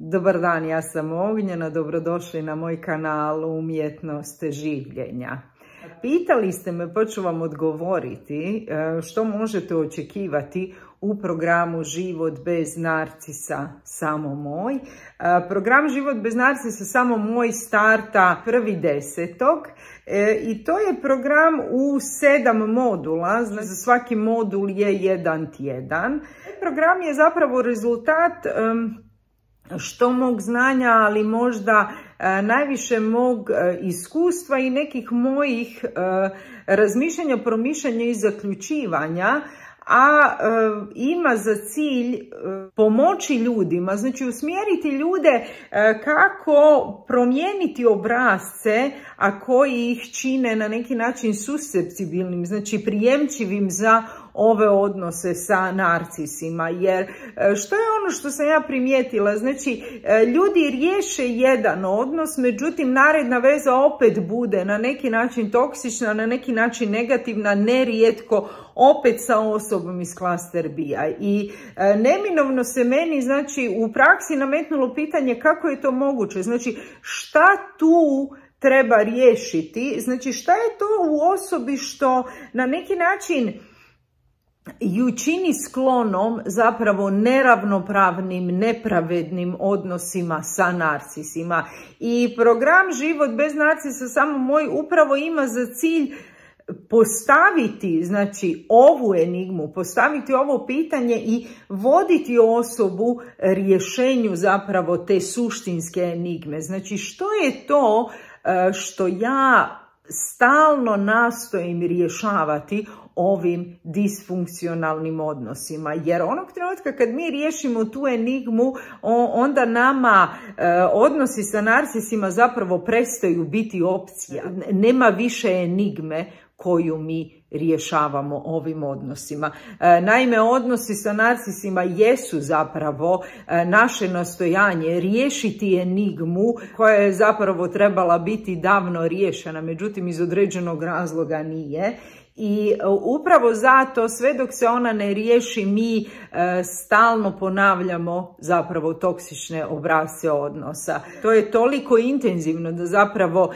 Dobar dan, ja sam Ognjena, dobrodošli na moj kanal Umjetnost življenja. Pitali ste me, pa ću vam odgovoriti što možete očekivati u programu Život bez narcisa samo moj. Program Život bez narcisa samo moj starta 1.10. I to je program u 7 modula, znači za svaki modul je jedan tjedan. Program je zapravo rezultat što mog znanja, ali možda najviše mog iskustva i nekih mojih razmišljanja, promišljanja i zaključivanja, a ima za cilj pomoći ljudima, znači usmjeriti ljude kako promijeniti obrasce, a koji ih čine na neki način susceptibilnim, znači prijemčivim za ove odnose sa narcisima. Jer što je ono što sam ja primijetila, znači ljudi riješe jedan odnos, međutim naredna veza opet bude na neki način toksična, na neki način negativna, nerijetko opet sa osobom iz klaster B-a. I neminovno se meni, znači, u praksi nametnulo pitanje kako je to moguće, znači šta tu treba riješiti, znači šta je to u osobi što na neki način ju čini sklonom zapravo neravnopravnim, nepravednim odnosima sa narcisima. I program Život bez narcisa samo moj upravo ima za cilj postaviti, znači, ovu enigmu, postaviti ovo pitanje i voditi osobu rješenju zapravo te suštinske enigme. Znači, što je to što ja stalno nastojim rješavati ovim disfunkcionalnim odnosima, jer onog trenutka kad mi riješimo tu enigmu, onda nama odnosi sa narcisima zapravo prestaju biti opcija. Nema više enigme koju mi rješavamo ovim odnosima. Naime, odnosi sa narcisima jesu zapravo naše nastojanje riješiti enigmu koja je zapravo trebala biti davno riješena, međutim iz određenog razloga nije. I upravo zato, sve dok se ona ne riješi, mi stalno ponavljamo zapravo toksične obrasce odnosa. To je toliko intenzivno da zapravo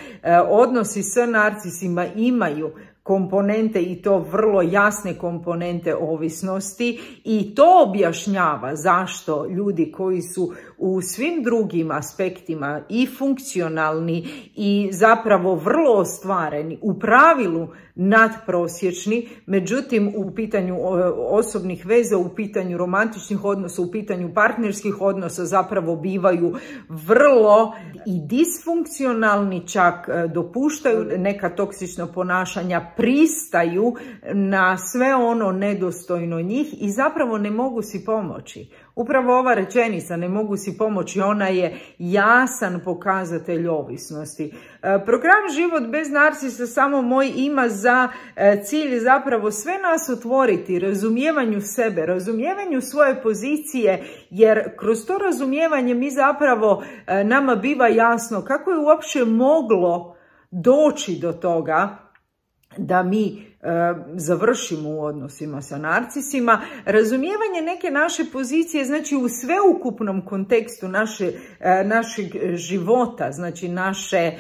odnosi sa narcisima imaju komponente, i to vrlo jasne komponente ovisnosti, i to objašnjava zašto ljudi koji su u svim drugim aspektima i funkcionalni i zapravo vrlo ostvareni, u pravilu nadprosječni, međutim u pitanju osobnih veza, u pitanju romantičnih odnosa, u pitanju partnerskih odnosa zapravo bivaju vrlo i disfunkcionalni, čak dopuštaju neka toksična ponašanja, pristaju na sve ono nedostojno njih i zapravo ne mogu si pomoći. Upravo ova rečenica, ne mogu si pomoći, ona je jasan pokazatelj ovisnosti. Program Život bez narcisa samo moj ima za cilj zapravo sve nas otvoriti razumijevanju sebe, razumijevanju svoje pozicije, jer kroz to razumijevanje mi zapravo, nama biva jasno kako je uopće moglo doći do toga da mi završimo u odnosima sa narcisima. Razumijevanje neke naše pozicije, znači u sveukupnom kontekstu našeg života, znači naše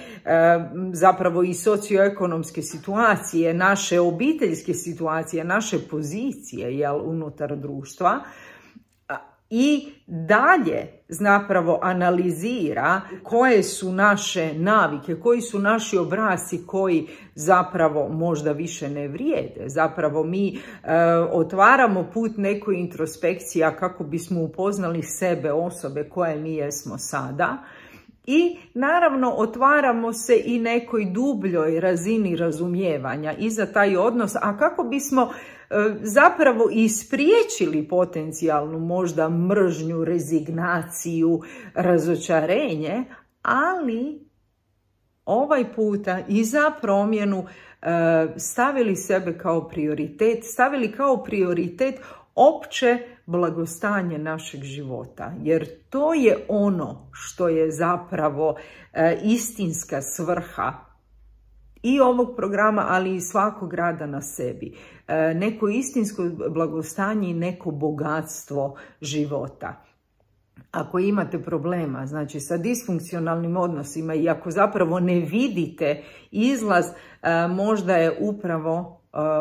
zapravo i socioekonomske situacije, naše obiteljske situacije, naše pozicije, jel, unutar društva. I dalje zapravo analizira koje su naše navike, koji su naši obrasci koji zapravo možda više ne vrijede. Zapravo mi otvaramo put nekoj introspekciji kako bismo upoznali sebe, osobe koje mi jesmo sada. I naravno otvaramo se i nekoj dubljoj razini razumijevanja i za taj odnos, a kako bismo zapravo ispriječili potencijalnu možda mržnju, rezignaciju, razočarenje, ali ovaj puta i za promjenu stavili sebe kao prioritet, stavili kao prioritet opće blagostanje našeg života, jer to je ono što je zapravo istinska svrha i ovog programa, ali i svakog rada na sebi. Neko istinsko blagostanje i neko bogatstvo života. ako imate problema, znači sa disfunkcionalnim odnosima i ako zapravo ne vidite izlaz, možda je upravo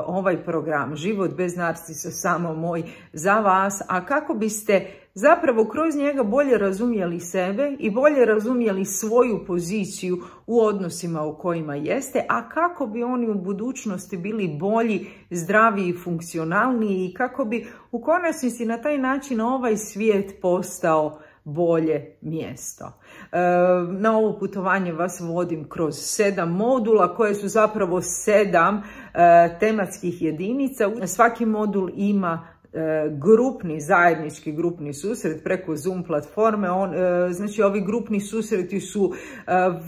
ovaj program Život bez narcisa samo moj za vas, a kako biste zapravo kroz njega bolje razumjeli sebe i bolje razumjeli svoju poziciju u odnosima u kojima jeste, a kako bi oni u budućnosti bili bolji, zdraviji, funkcionalniji i kako bi u konačnici na taj način ovaj svijet postao bolje mjesto. Na ovo putovanje vas vodim kroz 7 modula koje su zapravo 7 tematskih jedinica. Svaki modul ima grupni, zajednički grupni susret preko Zoom platforme. Znači ovi grupni susreti su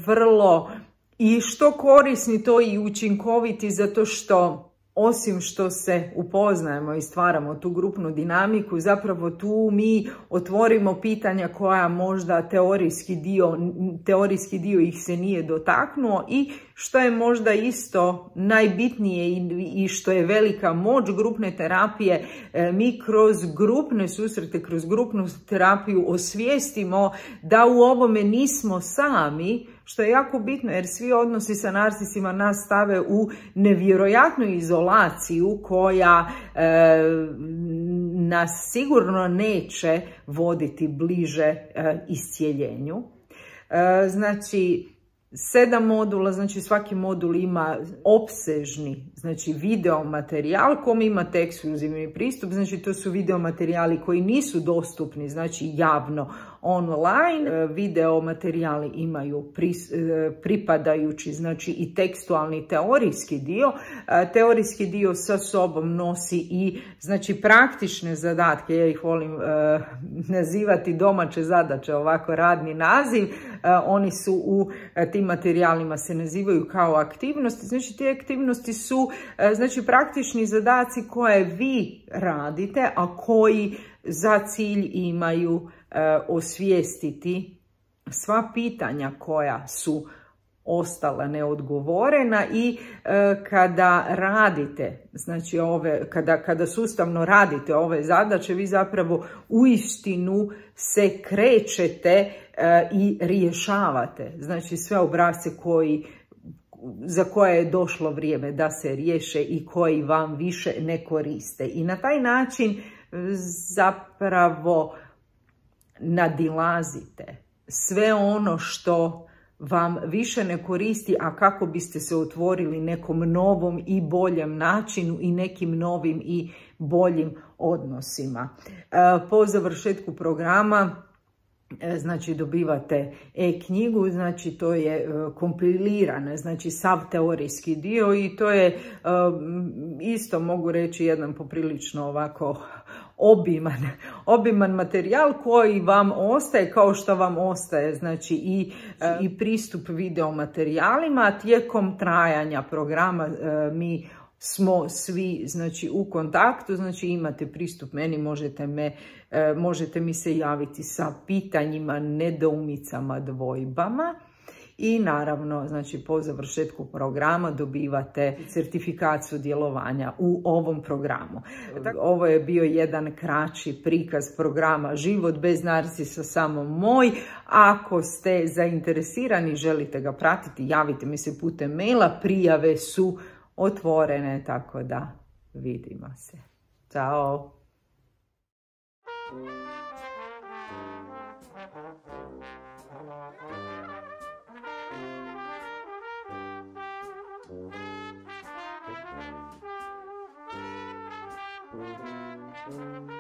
vrlo i što korisni, to i učinkoviti, zato što osim što se upoznajemo i stvaramo tu grupnu dinamiku, zapravo tu mi otvorimo pitanja koja možda teorijski dio ih se nije dotaknuo i što je možda isto najbitnije i što je velika moć grupne terapije, mi kroz grupne susrete, kroz grupnu terapiju osvijestimo da u ovome nismo sami, što je jako bitno jer svi odnosi sa narcisima nas stave u nevjerojatnu izolaciju koja nas sigurno neće voditi bliže iscijeljenju. Znači, 7 modula, znači svaki modul ima opsežni, znači video materijal kom imate ekskluzivni pristup, znači to su video materijali koji nisu dostupni, znači javno online. Video materijali imaju pripadajući, znači i tekstualni teorijski dio. Teorijski dio sa sobom nosi i znači praktične zadatke, ja ih volim nazivati domaće zadaće, ovako radni naziv. Oni su u tim materijalima se nazivaju kao aktivnosti. Znači te aktivnosti su znači praktični zadaci koje vi radite, a koji za cilj imaju osvijestiti sva pitanja koja su ostala neodgovorena i kada radite, znači kada sustavno radite ove zadaće, vi zapravo uistinu se krećete i rješavate, znači sve obrasce za koje je došlo vrijeme da se riješe i koji vam više ne koriste. I na taj način zapravo nadilazite sve ono što vam više ne koristi, a kako biste se otvorili nekom novom i boljem načinu i nekim novim i boljim odnosima. Po završetku programa znači dobivate e-knjigu, znači to je kompilirana, znači sav teorijski dio i to je isto mogu reći jedan poprilično ovako obiman materijal koji vam ostaje kao što vam ostaje, znači i pristup video materijalima. Tijekom trajanja programa mi smo svi znači u kontaktu, znači imate pristup meni, možete mi se javiti sa pitanjima, nedoumicama, dvojbama. I naravno, znači po završetku programa dobivate certifikat sudjelovanja u ovom programu. Ovo je bio jedan kraći prikaz programa Život bez narcisa samo moj. Ako ste zainteresirani, želite ga pratiti, javite mi se putem maila, prijave su otvorene, tako da vidimo se. Ćao! Thank you.